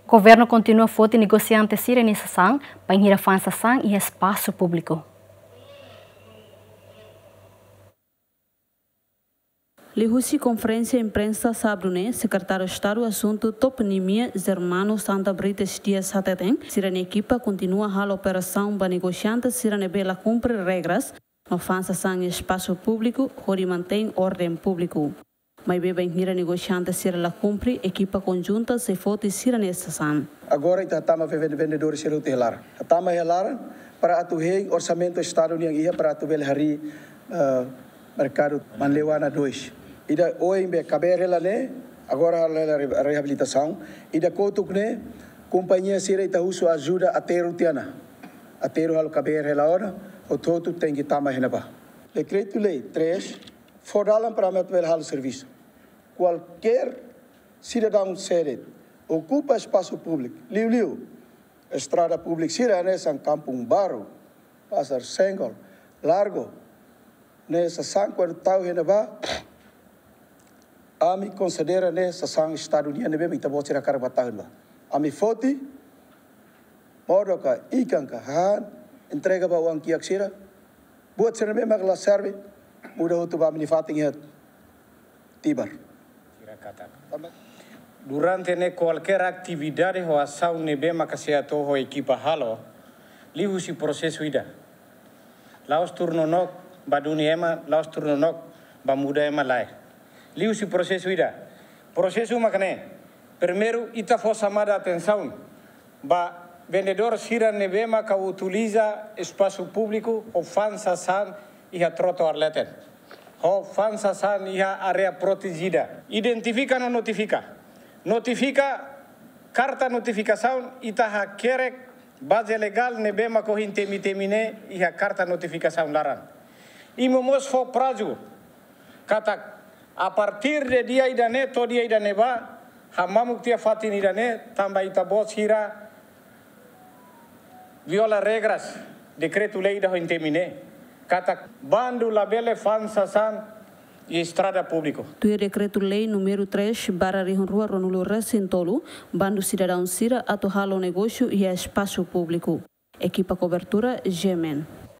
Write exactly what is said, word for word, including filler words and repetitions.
Governu kontinua foti negosiante sira-nia sasán bainhira fa'an sasán iha espasu públiku. Liuhusi konferénsia imprensa sábadu ne'e, Sekretáriu Estadu Asuntu Toponimia, Germano Santa Brites Dias hateten, sira-nia ekipa kontinua halo operasaun ba negosiante sira ne'ebé la kumpre regras no fa'an sasán iha espasu públiku hodi mantein orden públiku. Maibé bainhira negosiante sira la kumpre, ekipa konjunta sei foti sira-nia sasán. Agora ita hatama vende-, vendedór sira hotu iha laran. Hatama iha laran para atu hein orsamentu Estadu nian iha para atu bele harii, eh, merkadu Manleuana dois. Ida oin be kabeer hela ne'e, agora halo hela re-, reabilitasaun. Ida kotuk ne'e, kompañia sira ita husu ajuda aterru tiha ona. Aterru halo kabeer hela ona, hotu-hotu tenke tama iha ne'ebá. Dekretu-lei três, fó dalan para ami atu bele halo servisu. Kualkér sidadaun sé de'it okupa espasu públiku, liuliu estrada públika sira hanesan Kampung Baru, Pasar Senggol, Largo, ne'e sasán kuandu tau iha ne'ebá, ami konsidera ne'e sasán Estadu nian ne'ebé mak ita-boot sira hakarak ba tau iha ne'ebá. Ami foti, modo ka, ikan ka, hahán, entrega ba oan kiak sira, buat sira ne'ebé mak la serve, muda hotu ba ami-nia fatin iha Tibar. Durante ne'e kualkér atividade ho asaun ne'ebé maka sei atu ho ekipa halo, liuhusi prosesu ida. La'ós tuur nonook ba duni ema, la'ós tuur nonook ba muda ema lae. Liuhusi prosesu ida. Prosesu maka ne'e. Primeiru, ita fó xamada atensaun ba vendedór sira ne'ebé maka utiliza espasu públiku ho fa'an sasán iha trotoar leten, ho fa'an sasán iha área protejida. Identifika no notifika. Notifika, karta notifikasaun, ita hakerek baze legál ne'ebé mak ohin temi-temi ne'e iha karta notifikasaun laran. I mós fó prazu katak a partir de dia ida-ne'e to'o dia ida-ne'ebá, hamamuk tiha fatin ida-ne'e, tanba ita-boot sira viola regras dekretu-lei ida ohin temi ne'e, katak bandu labele fa'an sasán iha estrada públiku. Tuir dekretu-lei númeru três barra rihun rua ruanulu-resin-tolu, bandu sidadaun sira atu halo negósiu iha espasu públiku. Ekipa kobertura, G M N.